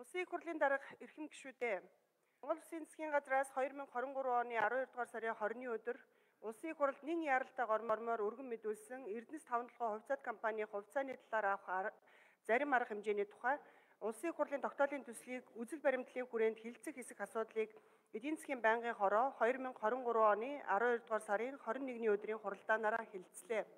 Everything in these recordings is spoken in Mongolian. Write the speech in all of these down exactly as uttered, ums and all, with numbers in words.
Улсын их хурлын дарга эрхэм гишүүдээ. Монгол Улсын засгийн газраас хоёр мянга хорин гурван оны аравдугаар сарын хорины өдөр Улсын их хуралд нэгэн яралтай гормоор өргөн мэдүүлсэн Эрдэнэс таван толгой хувьцаат компани хувьцааны талаар авах зарим арга хэмжээний тухай Улсын их хурлын тогтоолын төслийг үзэл баримтлалын хүрээнд хилцэх хэсэг асуудлыг эдийн засгийн байнгын хороо хоёр мянга хорин гурван оны аравдугаар сарын хорин нэгний өдрийн хуралдаанаараа хэлэлцлээ.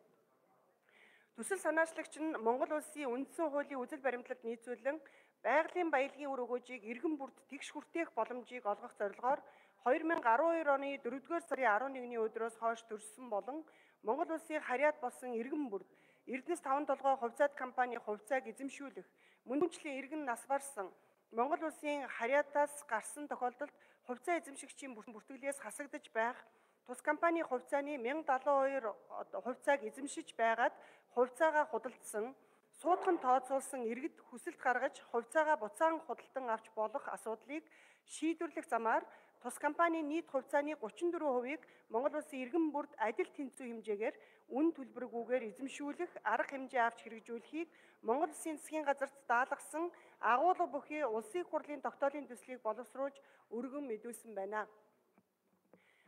Төсөл санаачлагч нь Монгол Улсын үндсэн хуулийн үзэл баримтлалд нийцүүлэн байгалийн баялагын үр өгөөжийг иргэн бүрд тэгш хүртээх боломжийг олгох зорилгоор хоёр мянга арван хоёр оны дөрөвдүгээр сарын арван нэгний өдрөөс хойш төрсөн болон Монгол Улсын харьяат болсон иргэн бүрд Эрдэнэс таван толгой хувьцаат компани хувьцааг эзэмшүүлэх, мөндөмчлийн иргэн нас барсан Монгол Улсын харьяатаас гарсан тохиолдолд хувьцаа эзэмшигчийн бүртгэлээс хасагдаж байх тус компани хувьцааны мянга далайн хоёр хувьцааг эзэмшиж байгаад хувьцаагаа худалдсан, суудхан тооцоолсон иргэд хүсэлт гаргаж хувьцаагаа буцаан худалдан авч болох асуудлыг шийдвэрлэх замаар тус компанийн нийт хувьцааны гучин дөрвөн хувийг Монгол Улсын иргэн бүрд адил тэнцүү хэмжээгээр үн төлбөргүйгээр эзэмшүүлэх арга хэмжээ авч хэрэгжүүлэхийг Монгол Улсын засгийн газарт даалгасан агуулга бүхий Улсын их хурлын тогтоолын төслийг боловсруулж өргөн мэдүүлсэн байна.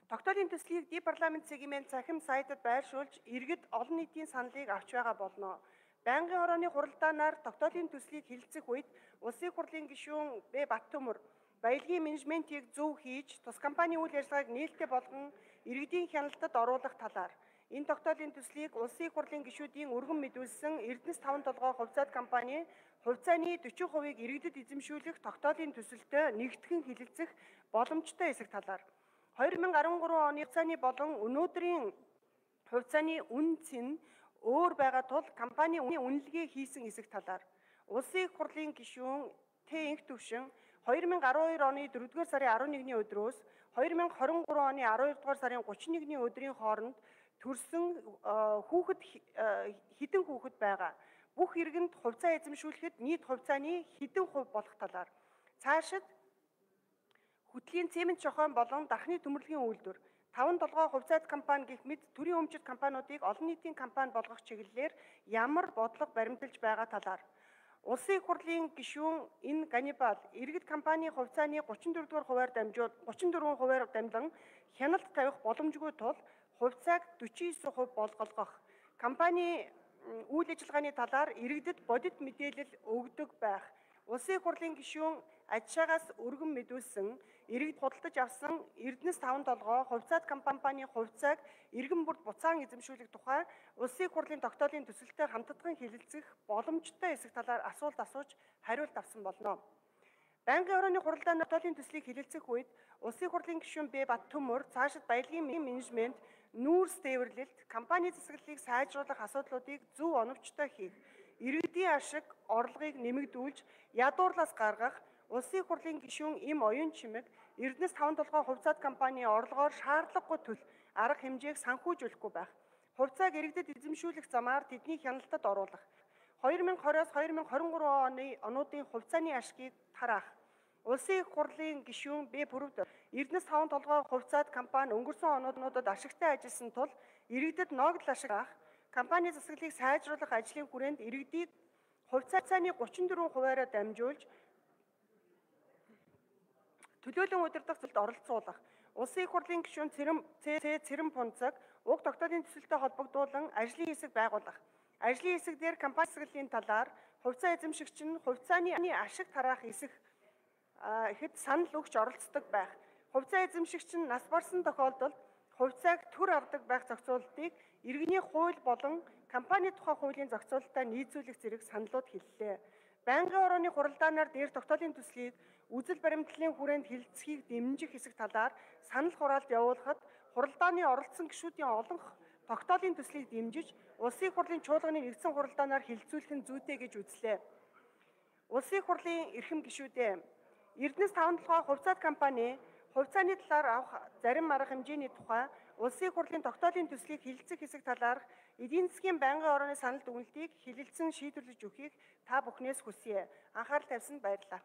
Тогтоолын төслийг ди парламент сегмент цахим сайтад байршуулж иргэд олон нийтийн саналыг авч байгаа болно. Байнгын хорооны хуралдаанаар тогтоолын төслийг хэлэлцэх үед Улсын их хурлын гишүүн Б. Баттөмөр баялагын менежментийг зөв хийж тус компанийн үйл ажиллагааг нээлттэй болгон иргэдийн хяналтад оруулах талаар энэ тогтоолын төслийг Улсын их хурлын гишүүдийн өргөн мэдүүлсэн Эрдэнэс таван толгой хувьцаат компани хувьцааны дөрвөн хувийг иргэдэд эзэмшүүлэх тогтоолын төсөлтөд нэгтгэн хэлэлцэх боломжтой эсэх талаар хоёр мянга арван гурван оны хувьцааны болон өнөөдрийн хувьцааны үнц нь өөр байгаа тул компани үнэлгээ хийсэн эсэх талаар Улсын их хурлын гишүүн Т. Инх төвшин хоёр мянга арван хоёр оны дөрөвдүгээр сарын арван нэгний өдрөөс хоёр мянга хорин гурван оны аравдугаар сарын гучин нэгний өдрийн хооронд төрсөн хүүхэд хэдэн хүүхэд байгаа. Бүх иргэнд хувьцаа эзэмшүүлэхэд нийт хувьцааны хэдэн хувь болох талаар цаашид хөтлийн цемент шохойн болон дархны төмөрлөгийн үйлдвэр таван толгой хувьцаат компани гэх мэт төрийн өмчит компаниудыг олон нийтийн компани болгох чиглэлээр ямар бодлого баримталж байгаа талаар Улсын их хурлын гишүүн энэ Ганнибал иргэд компани хувьцааны гучин дөрвдүгээр хувиар дамжуул гучин дөрвөн хувиар дамжлан хяналт тавих боломжгүй тул хувьцааг дөрвөн девять хувь болгох компани үйл ажиллагааны талаар иргэдэд бодит мэдээлэл өгдөг байх. Улсын их хурлын гишүүн Ажшаагаас өргөн мэдүүлсэн иргэд худалдаж авсан Эрдэнэс таван толгой хувьцаат компанийн хувьцааг иргэн бүрд буцаан эзэмшүүлэх тухай Улсын их хурлын тогтоолын төсөлтөд хамтдаган хэлэлцэх боломжтой эсэх талаар асуулт асууж хариулт авсан болно. Байнгын хорооны хуралдааны тогтоолын төслийг хэлэлцэх үед Улсын их хурлын гишүүн Б. Баттөмөр цаашид баялагын менежмент нүүрс тээвэрлэлт компани засаглалыг сайжруулах асуудлуудыг зөв оновчтой хийх, иргэдийн ашиг орлогыг нэмэгдүүлж ядуурлаас гаргах Улсын их хурлын гишүүн Им Оюун Чимэг Эрдэнэс таван толгой хувьцаат компанийн орлогоор шаардлагагүй төл арга хэмжээг санхүүжүүлэхгүй байх. Хувьцааг иргэдэд эзэмшүүлэх замаар тэдний хяналтад оруулах. хоёр мянга двадцатоос хоёр мянга хорин гурван оны онуудын хувьцааны ашгийг тараах. Улсын их хурлын гишүүн Б. Бүрвд Эрдэнэс таван толгой хувьцаат компани өнгөрсөн онуудад ашигтай ажилласан тул иргэдэд ногдол ашиг авах, компани засаглалыг сайжруулах ажлын хүрээнд иргэдийг хувьцааны гучин дөрвөн хувиараа дамжуулж төлөөлөн удирдах зүйлд оролцуулах. Улсын их хурлын гишүүн Цэрэм Цэрэм Пунцаг уг тогтоолын төсөлтөд холбогдуулан ажлын хэсэг байгуулах. Ажлын хэсэг дээр компани засаглалын талаар хувьцаа эзэмшигч нь хувьцааны ашиг тараах эсэх ихэд санал өгч оролцдог байх. Хувьцаа эзэмшигч нь нас барсан тохиолдолд хувьцааг төр авдаг байх зохицуултыг иргэний хууль болон компани тухай хуулийн зохицуулалтаа нийцүүлэх зэрэг саналууд хэллээ. Байнгын хорооны хуралдаанаар дээр тогтоолын төслийг үзэл баримтлалын хүрээнд хэлэлцэхийг дэмжих хэсэг талаар санал хураалт явуулахад хуралдааны оролцсон гишүүдийн олон тогтоолын төслийг дэмжиж Улсын их хурлын чуулганы нэгдсэн хуралдаанаар хэлэлцүүлэх нь зүйтэй гэж үзлээ. Улсын их хурлын эрхэм гишүүдээ Эрдэнэс таван толгой хувьцаат компани хувьцааны талаар авах зарим арга хэмжээний тухай Улсын их хурлын тогтоолын төслийг хэлэлцэх хэсэг талаарх эдийн засгийн байнгын хорооны санал дүгнэлтийг хэлэлцэн шийдвэрлэж өгөхийг та бүхнээс хүсье. Анхаарал тавьсанд баярлалаа.